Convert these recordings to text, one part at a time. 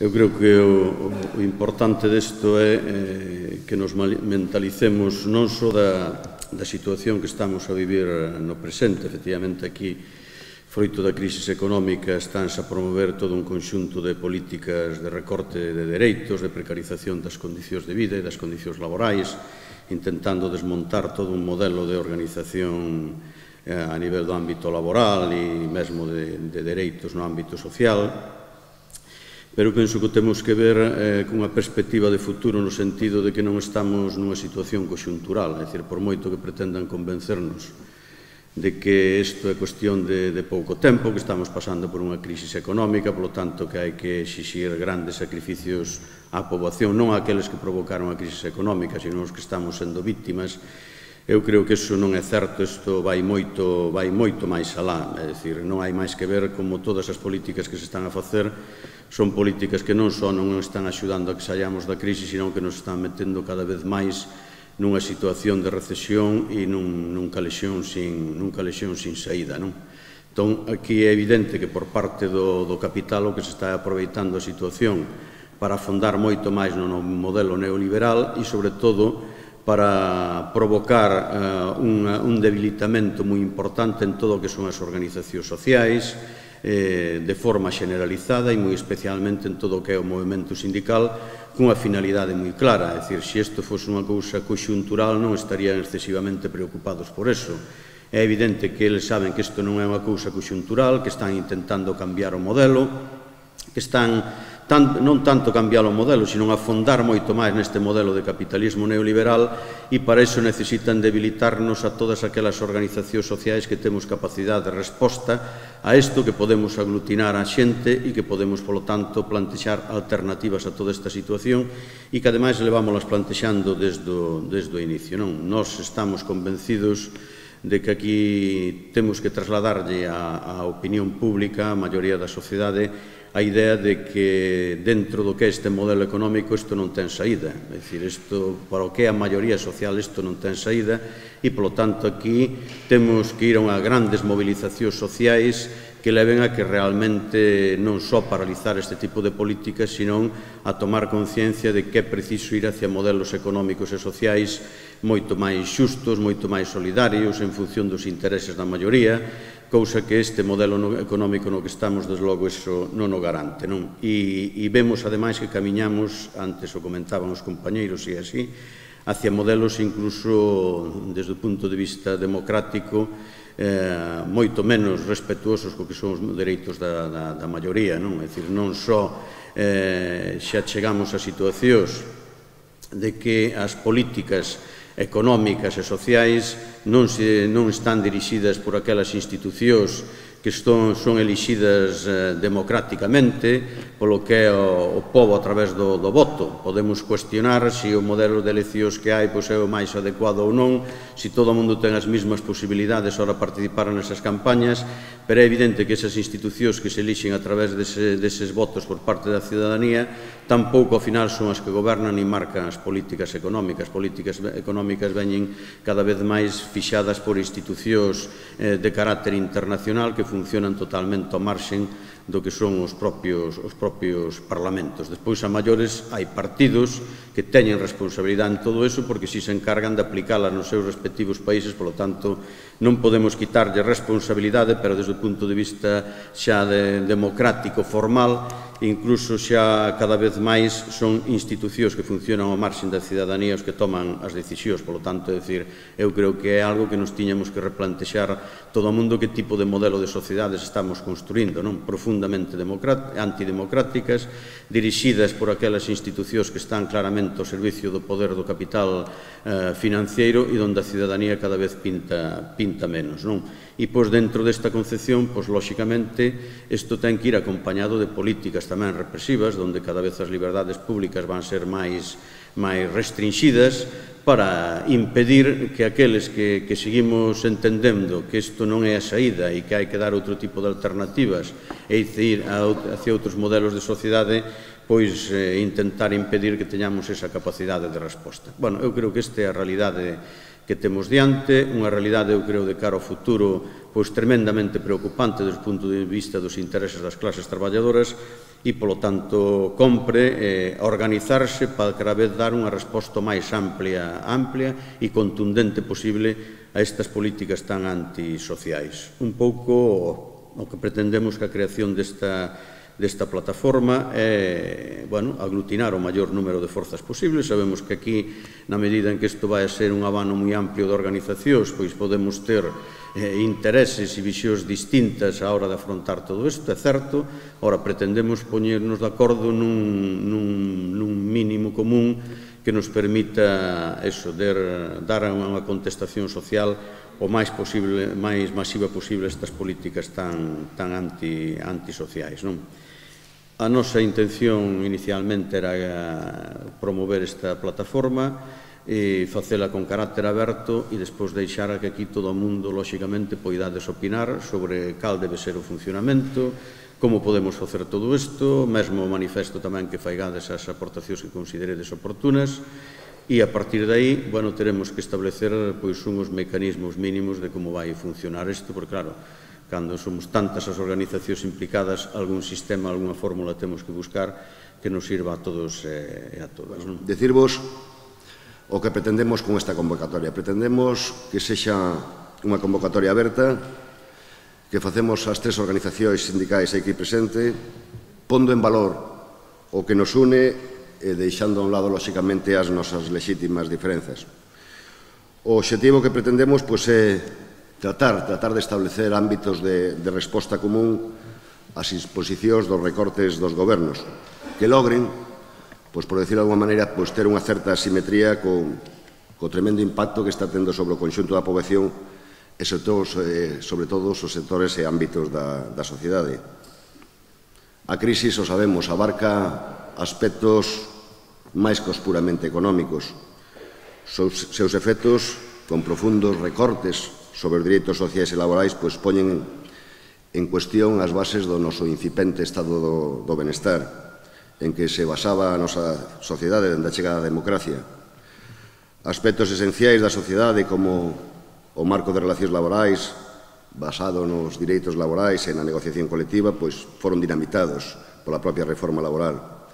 Eu creo que o importante desto é que nos mentalicemos non só da situación que estamos a vivir no presente. Efectivamente, aquí, froito da crise económica, estánse a promover todo un conxunto de políticas de recorte de dereitos, de precarización das condicións de vida e das condicións laborais, intentando desmontar todo un modelo de organización a nivel do ámbito laboral e mesmo de dereitos no ámbito social. Pero penso que temos que ver cunha perspectiva de futuro no sentido de que non estamos nunha situación conxuntural, é dicir, por moito que pretendan convencernos de que isto é cuestión de pouco tempo, que estamos pasando por unha crise económica, polo tanto que hai que exixir grandes sacrificios á poboación, non aqueles que provocaron a crise económica, sino os que estamos sendo víctimas. Eu creo que iso non é certo, isto vai moito máis alá, é dicir, non hai máis que ver como todas as políticas que se están a facer son políticas que non só non están axudando a que saíamos da crise, sino que nos están metendo cada vez máis nunha situación de recesión e nun calexón sin saída. Entón, aquí é evidente que por parte do capital o que se está aproveitando a situación para afondar moito máis no modelo neoliberal e, sobre todo, para provocar un debilitamento moi importante en todo o que son as organizacións sociais, de forma generalizada e moi especialmente en todo o que é o movimento sindical, cunha finalidade moi clara. É dicir, se isto fose unha cousa conxuntural non estarían excesivamente preocupados por eso. É evidente que eles saben que isto non é unha cousa conxuntural, que están intentando cambiar o modelo, que están non tanto cambiar o modelo, sino afondar moito máis neste modelo de capitalismo neoliberal, e para iso necesitan debilitarnos a todas aquelas organizacións sociais que temos capacidade de resposta a isto, que podemos aglutinar a xente e que podemos, polo tanto, plantexar alternativas a toda esta situación e que, ademais, levámolas plantexando desde o inicio. Nós estamos convencidos de que aquí temos que trasladarlle á opinión pública, á maioría da sociedade, a idea de que dentro do que é este modelo económico isto non ten saída. É dicir, isto, para o que é a maioría social, isto non ten saída e, polo tanto, aquí temos que ir a unhas grandes movilizacións sociais que leven a que realmente non só paralizar este tipo de políticas, sino a tomar conciencia de que é preciso ir hacia modelos económicos e sociais moito máis xustos, moito máis solidarios, en función dos intereses da maioría, cousa que este modelo económico no que estamos, desde logo, iso non o garante. E vemos, ademais, que camiñamos, antes o comentaban os compañeiros, e así, hacia modelos incluso, desde o punto de vista democrático, moito menos respetuosos co que son os dereitos da maioría. É dicir, non só xa chegamos a situacións de que as políticas económicas e sociais non están dirixidas por aquelas institucións que son elixidas democráticamente polo que é o povo a través do voto. Podemos cuestionar se o modelo de eleccións que hai é o máis adecuado ou non, se todo o mundo ten as mesmas posibilidades para participar nesas campañas, pero é evidente que esas institucións que se elixen a través deses votos por parte da cidadanía tampouco, ao final, son as que gobernan e marcan as políticas económicas. As políticas económicas veñen cada vez máis fixadas por institucións de carácter internacional que funcionan totalmente ao marxen do que son os propios parlamentos. Despois, a maiores, hai partidos que teñen responsabilidade en todo iso porque si se encargan de aplicala nos seus respectivos países, polo tanto, non podemos quitarlle responsabilidade, pero desde o punto de vista xa democrático, formal, incluso xa cada vez máis son institucións que funcionan ao marxen da cidadanía os que toman as decisións. Polo tanto, é dicir, eu creo que é algo que nos tiñamos que replantexar todo o mundo, que tipo de modelo de sociedades estamos construindo, profundamente antidemocráticas, dirixidas por aquelas institucións que están claramente ao servicio do poder do capital financeiro e onde a cidadanía cada vez pinta menos. E, dentro desta concepción, lóxicamente, isto ten que ir acompañado de políticas tamén represivas, onde cada vez as liberdades públicas van ser máis restringidas, para impedir que aqueles que seguimos entendendo que isto non é a saída e que hai que dar outro tipo de alternativas e ir hacia outros modelos de sociedade, pois intentar impedir que teñamos esa capacidade de resposta. Eu creo que esta é a realidade que temos diante, unha realidade, eu creo, de cara ao futuro, pois tremendamente preocupante desde o punto de vista dos intereses das clases traballadoras, e, polo tanto, compre organizarse para cada vez dar unha resposta máis amplia e contundente posible a estas políticas tan antisociais. Un pouco o que pretendemos que a creación desta plataforma é aglutinar o maior número de forzas posibles. Sabemos que aquí, na medida en que isto vai a ser un abano moi amplio de organizacións, pois podemos ter intereses e visións distintas á hora de afrontar todo isto, é certo. Ora, pretendemos poñernos de acordo nun mínimo común que nos permita dar unha contestación social o máis masiva posible a estas políticas tan antisociais. A nosa intención inicialmente era promover esta plataforma e facela con carácter aberto e despois deixar que aquí todo o mundo, lóxicamente, poidades opinar sobre cal debe ser o funcionamento, como podemos facer todo isto, mesmo manifesto tamén que faigades as aportacións que consideredes oportunas, e a partir de aí, teremos que establecer uns mecanismos mínimos de como vai funcionar isto, porque claro, cando somos tantas as organizacións implicadas, algún sistema, algunha fórmula temos que buscar que nos sirva a todos e a todas. Decirvos o que pretendemos con esta convocatoria. Pretendemos que sexa unha convocatoria aberta, que facemos as tres organizacións sindicais aquí presente, pondo en valor o que nos une e deixando a un lado, lóxicamente, as nosas lexítimas diferenzas. O obxectivo que pretendemos é tratar de establecer ámbitos de resposta común ás imposicións dos recortes dos gobernos, que logren, por decirlo de alguma maneira, ter unha certa asimetría co tremendo impacto que está tendo sobre o conxunto da poboación e sobre todo os sectores e ámbitos da sociedade. A crise, o sabemos, abarca aspectos máis que os puramente económicos. Seus efectos, con profundos recortes sobre os dereitos sociais e laborais, poñen en cuestión as bases do noso incipente estado do benestar, en que se basaba a nosa sociedade dende a chegada da democracia. Aspectos esenciais da sociedade como o marco de relacións laborais basado nos direitos laborais e na negociación colectiva foron dinamitados pola propia reforma laboral,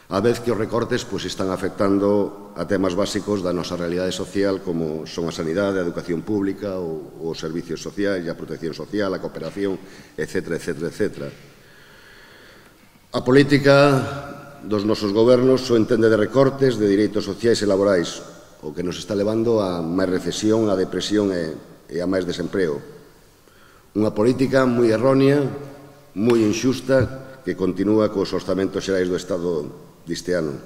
a vez que os recortes están afectando a temas básicos da nosa realidade social como son a sanidade, a educación pública, os servicios sociais, a protección social, a cooperación, etc. A política dos nosos gobernos só entende de recortes de direitos sociais e laborais, o que nos está levando a máis recesión, a depresión e a máis desemprego. Unha política moi errónea, moi inxusta, que continúa cos orzamentos xerais do Estado deste ano,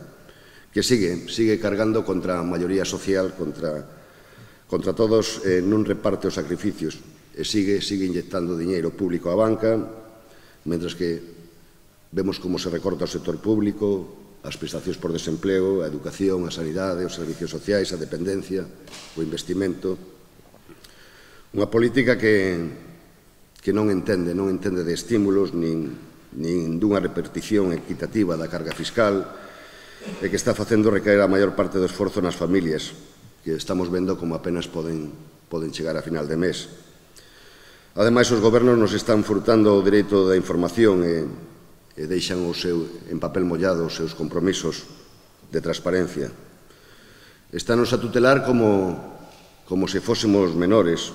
que sigue cargando contra a maioría social, contra todos, non reparte os sacrificios, e sigue inyectando diñeiro público á banca, mentres que vemos como se recorta o sector público, as prestacións por desemplego, a educación, a sanidade, os servicios sociais, a dependencia, o investimento. Unha política que non entende de estímulos nin dunha repartición equitativa da carga fiscal e que está facendo recaer a maior parte do esforzo nas familias, que estamos vendo como apenas poden chegar a final de mes. Ademais, os gobernos nos están furtando o dereito da información e deixan en papel mollado os seus compromisos de transparencia. Estános a tutelar como se fósemos menores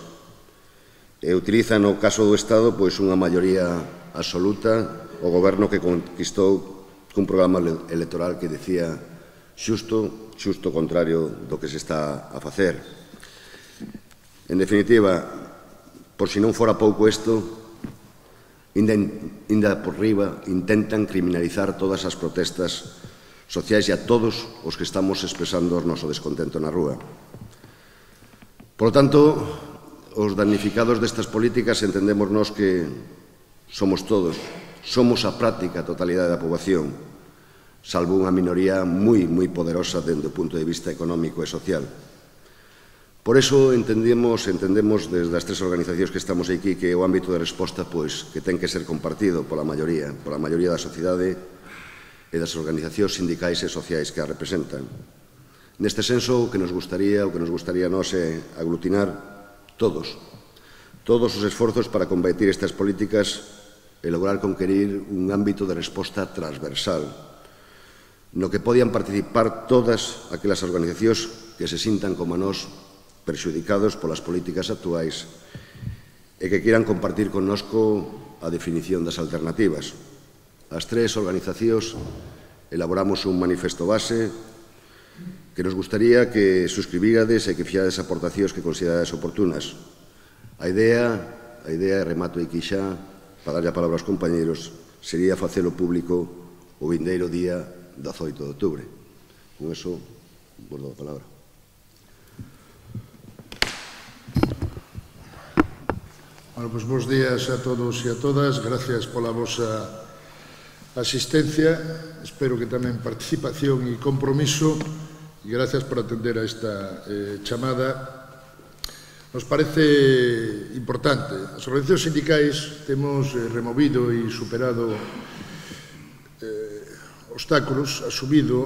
e utilizan no caso do Estado unha maioría absoluta o goberno que conquistou cun programa electoral que decía xusto contrario do que se está a facer. En definitiva, por si non fora pouco isto, inda por riba, intentan criminalizar todas as protestas sociais e a todos os que estamos expresando o noso descontento na rúa. Por lo tanto, os damnificados destas políticas entendemos nós que somos todos, somos a práctica totalidade da poboación, salvo unha minoría moi poderosa dende o punto de vista económico e social. Por iso entendemos desde as tres organizacións que estamos aquí que o ámbito de resposta que ten que ser compartido pola maioría da sociedade e das organizacións sindicais e sociais que a representan. Neste senso, o que nos gustaría a nós é aglutinar todos os esforzos para combatir estas políticas e lograr conquerir un ámbito de resposta transversal no que podían participar todas aquelas organizacións que se sintan como nós perxudicados polas políticas actuais e que quieran compartir connosco a definición das alternativas. As tres organizacións elaboramos un manifesto base que nos gustaría que suscribirades e que fixades aportacións que considerades oportunas. A idea, remato aquí xa, para darlle a palabra aos compañeros, sería facelo público o vindeiro día 18 de outubro. Con eso, vos dou a palabra. Bueno, pues bons días a todos e a todas. Gracias pola vosa asistencia. Espero que tamén participación e compromiso. E gracias por atender a esta chamada. Nos parece importante. As organizacións sindicais temos removido e superado obstáculos, asumido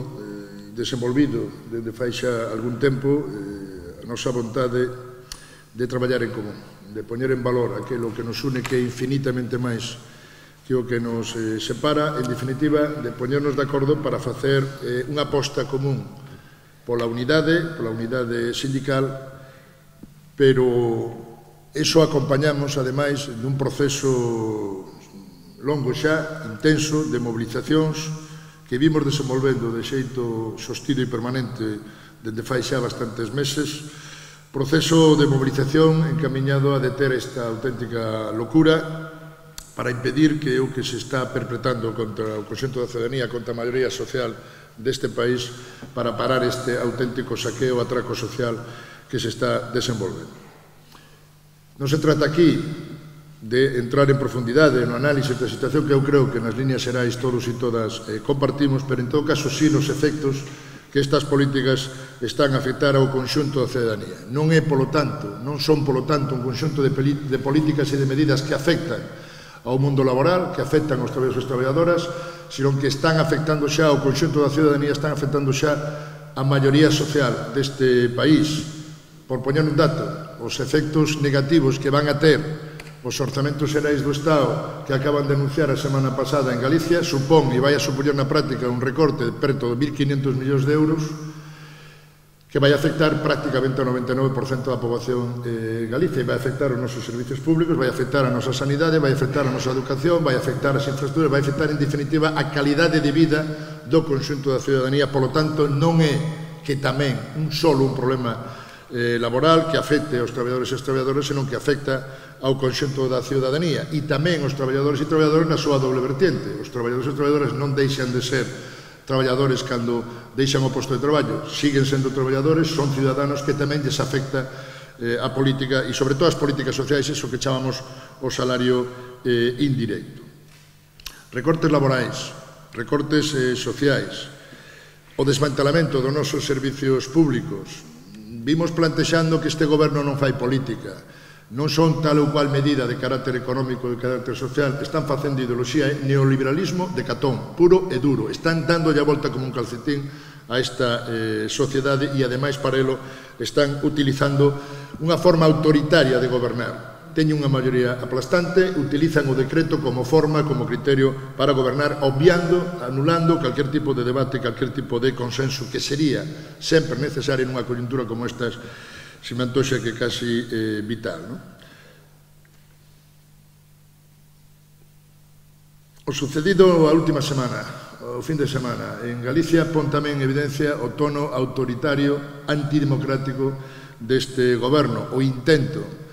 e desenvolvido desde fai xa algún tempo a nosa vontade de traballar en común, de poñer en valor aquilo que nos une, que é infinitamente máis que o que nos separa, en definitiva, de poñernos de acordo para facer unha aposta común pola unidade sindical, pero iso acompañamos, ademais, dun proceso longo xa, intenso, de mobilizacións que vimos desenvolvendo de xeito sostido e permanente dende fai xa bastantes meses, proceso de movilización encamiñado a deter esta auténtica locura para impedir que o que se está perpetrando contra o conxunto da ciudadanía, contra a maioría social deste país, para parar este auténtico saqueo, atraco social que se está desenvolvendo. Non se trata aquí de entrar en profundidade no análise da situación que eu creo que nas líneas xerais todos e todas compartimos, pero en todo caso sí nos efectos que estas políticas están a afectar ao conxunto da ciudadanía. Non son, polo tanto, un conxunto de políticas e de medidas que afectan ao mundo laboral, que afectan aos traballadores e traballadoras, sino que están afectando xa ao conxunto da ciudadanía, están afectando xa a maioría social deste país. Por poñer un dato, os efectos negativos que van a ter os orzamentos xerais do Estado que acaban de anunciar a semana pasada en Galicia supón e vai a supoñer na práctica un recorte de preto de 1.500 millóns de euros que vai afectar prácticamente ao 99% da poboación de Galicia e vai afectar os nosos servicios públicos, vai afectar a nosa sanidade, vai afectar a nosa educación, vai afectar as infraestructuras, vai afectar en definitiva a calidade de vida do conxunto da ciudadanía. Polo tanto, non é que tamén un problema laboral que afecte aos traballadores e as traballadoras, senón que afecta ao conxunto da ciudadanía e tamén aos traballadores e traballadoras na súa doble vertiente. Os traballadores e traballadoras non deixan de ser traballadores cando deixan o posto de traballo, siguen sendo traballadores, son ciudadanos que tamén lles afecta a política e sobre todo as políticas sociais, iso que chamamos o salario indirecto. Recortes laborais, recortes sociais, o desmantelamento dos nosos servicios públicos. Vimos plantexando que este goberno non fai política, non son tal ou cual medida de carácter económico, de carácter social, están facendo ideoloxía, neoliberalismo de catón, puro e duro, están dando a volta como un calcetín a esta sociedade e ademais para elo están utilizando unha forma autoritaria de gobernar. Teñen unha maioría aplastante, utilizan o decreto como forma, como criterio para gobernar, obviando, anulando calquer tipo de debate, calquer tipo de consenso que sería sempre necesario nunha coyuntura como estas, se me antoxa que casi vital. O sucedido a última semana, o fin de semana, en Galicia pon tamén en evidencia o tono autoritario, antidemocrático deste goberno, o intento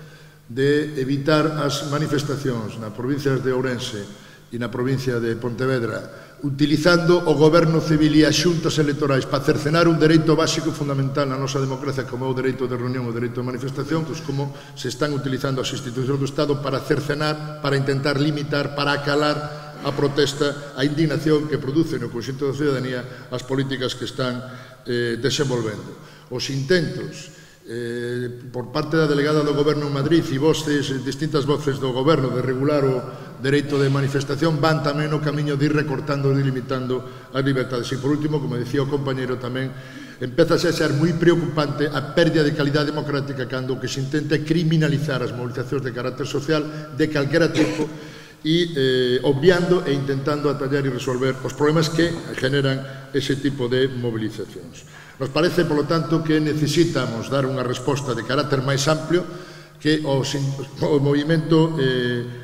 de evitar as manifestacións nas provincias de Ourense e na provincia de Pontevedra, utilizando o goberno civil e as xuntas electorais para cercenar un dereito básico fundamental na nosa democracia como é o dereito de reunión, o dereito de manifestación, pois como se están utilizando as institucións do Estado para cercenar, para intentar limitar, para acalar a protesta, a indignación que produce no conxunto da ciudadanía as políticas que están desenvolvendo. Os intentos por parte da delegada do Goberno en Madrid e distintas voces do Goberno de regular o dereito de manifestación van tamén no camiño de ir recortando e limitando as libertades. E por último, como dicía o compañeiro tamén, empeza a ser moi preocupante a pérdida de calidade democrática cando o que se intenta é criminalizar as movilizacións de carácter social de calquera tipo e obviando e intentando atallar e resolver os problemas que generan ese tipo de movilizacións. Nos parece, polo tanto, que necesitamos dar unha resposta de carácter máis amplio, que o movimento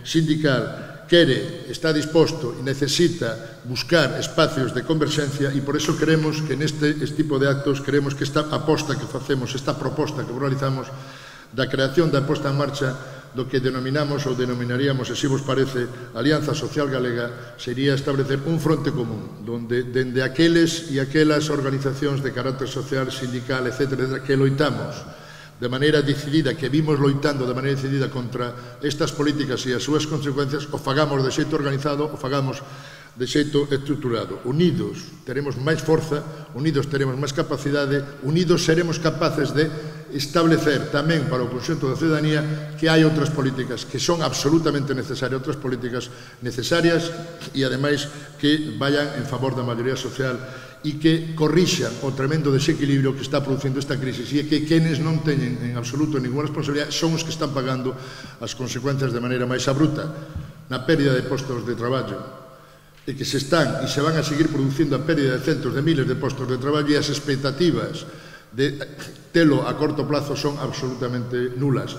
sindical quere, está disposto e necesita buscar espacios de converxencia, e por eso queremos que neste tipo de actos, queremos que esta aposta que facemos, esta proposta que realizamos da creación da posta en marcha do que denominamos ou denominaríamos, se vos parece, Alianza Social Galega, sería establecer un fronte común, donde dende aqueles e aquelas organizacións de carácter social, sindical, etc., que loitamos de maneira decidida, que vimos loitando de maneira decidida contra estas políticas e as súas consecuencias, o fagamos de xeito organizado, o fagamos de xeito estruturado. Unidos teremos máis forza, unidos teremos máis capacidade, unidos seremos capaces de establecer tamén para o conxunto da ciudadanía que hai outras políticas que son absolutamente necesarias, outras políticas necesarias e, ademais, que vayan en favor da maioría social e que corrixan o tremendo desequilibrio que está producindo esta crisis, e que quenes non teñen en absoluto ninguna responsabilidade son os que están pagando as consecuencias de maneira máis abrupta na pérdida de postos de traballo, e que se están e se van a seguir producindo a pérdida de centos de miles de postos de traballo, e as expectativas de telo a corto plazo son absolutamente nulas.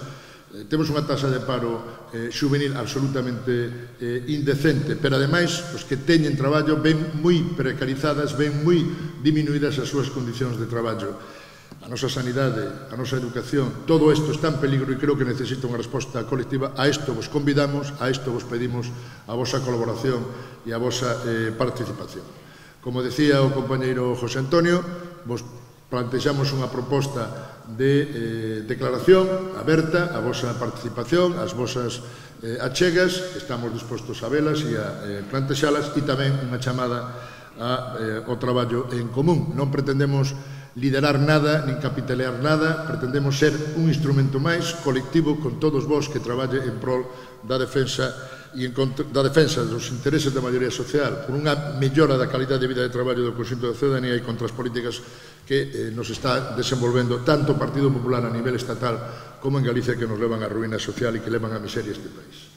Temos unha taxa de paro juvenil absolutamente indecente, pero ademais os que teñen traballo ven moi precarizadas, ven moi diminuídas as súas condicións de traballo. A nosa sanidade, a nosa educación, todo isto está en peligro e creo que necesita unha resposta colectiva. A isto vos convidamos, a isto vos pedimos a vosa colaboración e a vosa participación. Como decía o compañeiro José Antonio, vos plantexamos unha proposta de declaración aberta a vosa participación, as vosas achegas, estamos dispostos a velas e a plantexalas, e tamén unha chamada ao traballo en común. Non pretendemos liderar nada, nin capitalear nada, pretendemos ser un instrumento máis colectivo con todos vós que traballe en prol da defensa dos intereses da maioría social, por unha mellora da calidade de vida de traballo do conxunto da ciudadanía e contra as políticas que nos está desenvolvendo tanto o Partido Popular a nivel estatal como en Galicia, que nos levan á ruína social e que levan á miseria este país.